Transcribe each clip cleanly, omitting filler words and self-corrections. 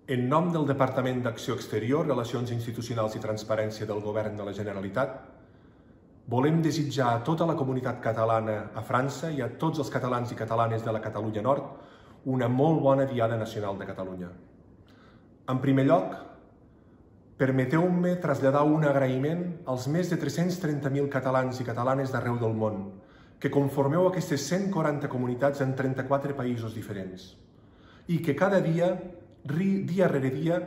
En nom del Departament d'Acció Exterior, Relacions Institucionals i Transparència del Govern de la Generalitat, volem desitjar a tota la comunitat catalana a França i a tots els catalans i catalanes de la Catalunya Nord una molt bona Diada Nacional de Catalunya. En primer lloc, permeteu-me traslladar un agraïment als més de 330.000 catalans i catalanes d'arreu del món, que conformeu aquestes 140 comunitats en 34 països diferents, i que cada dia, dia rere dia,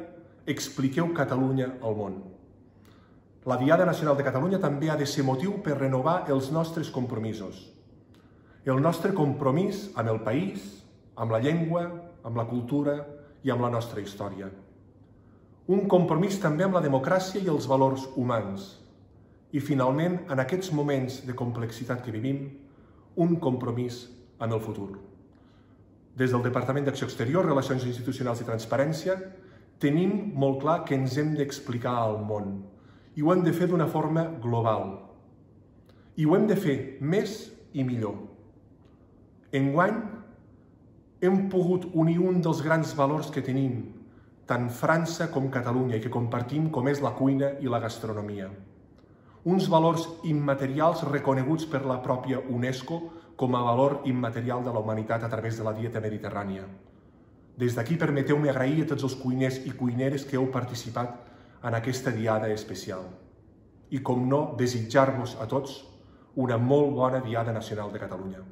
expliqueu Catalunya al món. La Diada Nacional de Catalunya també ha de ser motiu per renovar els nostres compromisos. El nostre compromís amb el país, amb la llengua, amb la cultura i amb la nostra història. Un compromís també amb la democràcia i els valors humans. I finalment, en aquests moments de complexitat que vivim, un compromís amb el futur. Des del Departament d'Acció Exterior, Relacions Institucionals i Transparència, tenim molt clar que ens hem d'explicar al món i ho hem de fer d'una forma global. I ho hem de fer més i millor. Enguany, hem pogut unir un dels grans valors que tenim, tant França com Catalunya, i que compartim, com és la cuina i la gastronomia. Uns valors immaterials reconeguts per la pròpia UNESCO com a valor immaterial de la humanitat a través de la dieta mediterrània. Des d'aquí permeteu-me agrair a tots els cuiners i cuineres que heu participat en aquesta diada especial. I, com no, desitjar-vos a tots una molt bona Diada Nacional de Catalunya.